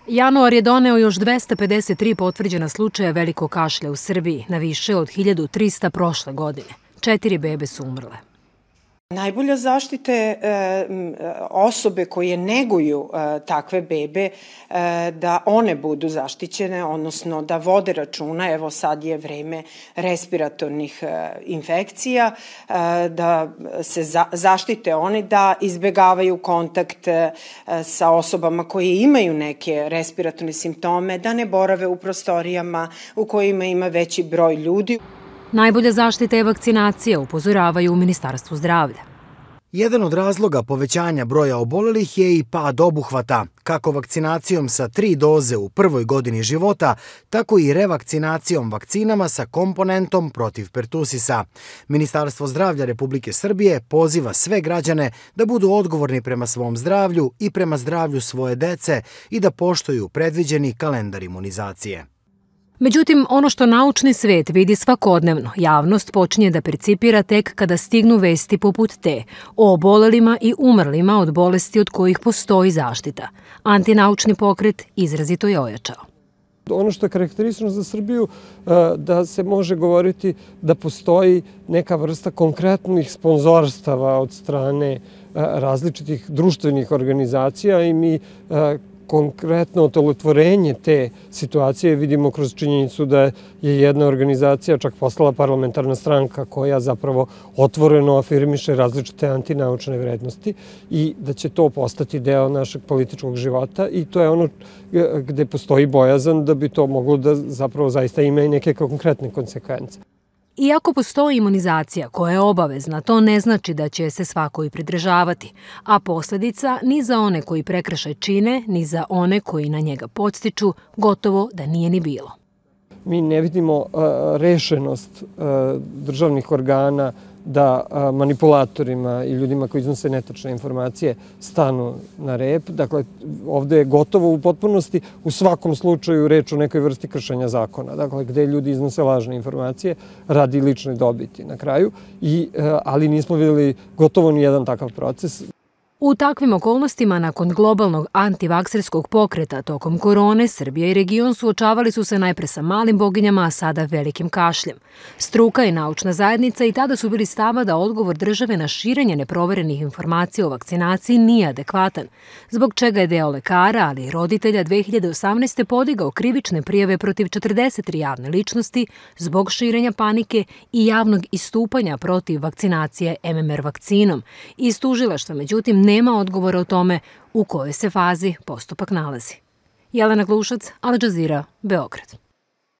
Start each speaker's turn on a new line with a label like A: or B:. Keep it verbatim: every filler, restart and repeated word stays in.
A: Januar je doneo još dvesta pedeset tri potvrđena slučaja velikog kašlja u Srbiji, na više od hiljadu trista prošle godine. Četiri bebe su umrle.
B: Najbolja zaštita je osobe koje neguju takve bebe, da one budu zaštićene, odnosno da vode računa, evo sad je vreme respiratornih infekcija, da se zaštite oni, da izbegavaju kontakt sa osobama koje imaju neke respiratorne simptome, da ne borave u prostorijama u kojima ima veći broj ljudi.
A: Najbolja zaštita je vakcinacija, upozoravaju u Ministarstvu zdravlja.
C: Jedan od razloga povećanja broja obolelih je i pad obuhvata, kako vakcinacijom sa tri doze u prvoj godini života, tako i revakcinacijom vakcinama sa komponentom protiv pertusisa. Ministarstvo zdravlja Republike Srbije poziva sve građane da budu odgovorni prema svom zdravlju i prema zdravlju svoje dece i da poštuju predviđeni kalendar imunizacije.
A: Međutim, ono što naučni svet vidi svakodnevno, javnost počinje da percipira tek kada stignu vesti poput te o obolelima i umrlima od bolesti od kojih postoji zaštita. Antinaučni pokret izrazito je ojačao.
D: Ono što je karakteristično za Srbiju, da se može govoriti da postoji neka vrsta konkretnih sponzorstava od strane različitih društvenih organizacija i mi konkretno otelotvorenje te situacije vidimo kroz činjenicu da je jedna organizacija čak postala parlamentarna stranka koja zapravo otvoreno afirmiše različite antinaučne vrednosti i da će to postati deo našeg političkog života i to je ono gde postoji bojazan da bi to moglo da zapravo zaista ima i neke konkretne konsekvence.
A: Iako postoji imunizacija koja je obavezna, to ne znači da će se svako i pridržavati, a posljedica ni za one koji prekršaj čine, ni za one koji na njega podstiču, gotovo da nije ni bilo.
D: Mi ne vidimo rešenost državnih organa da manipulatorima i ljudima koji iznose netačne informacije stanu na rep. Dakle, ovde je gotovo u potpunosti u svakom slučaju reč o nekoj vrsti kršenja zakona. Dakle, gde ljudi iznose lažne informacije radi lične dobiti na kraju, ali nismo videli gotovo ni jedan takav proces.
A: U takvim okolnostima, nakon globalnog antivakserskog pokreta tokom korone, Srbija i region suočavali su se najpre sa malim boginjama, a sada velikim kašljem. Struka i naučna zajednica i tada su bili stava da odgovor države na širenje neproverenih informacija o vakcinaciji nije adekvatan, zbog čega je deo lekara, ali i roditelja dve hiljade osamnaeste. podigao krivične prijave protiv četrdeset tri javne ličnosti zbog širenja panike i javnog istupanja protiv vakcinacije em em er vakcinom. Iz tužilaštva, međutim, nema odgovora o tome u kojoj se fazi postupak nalazi. Jelena Glušac, Al Jazeera, Beograd.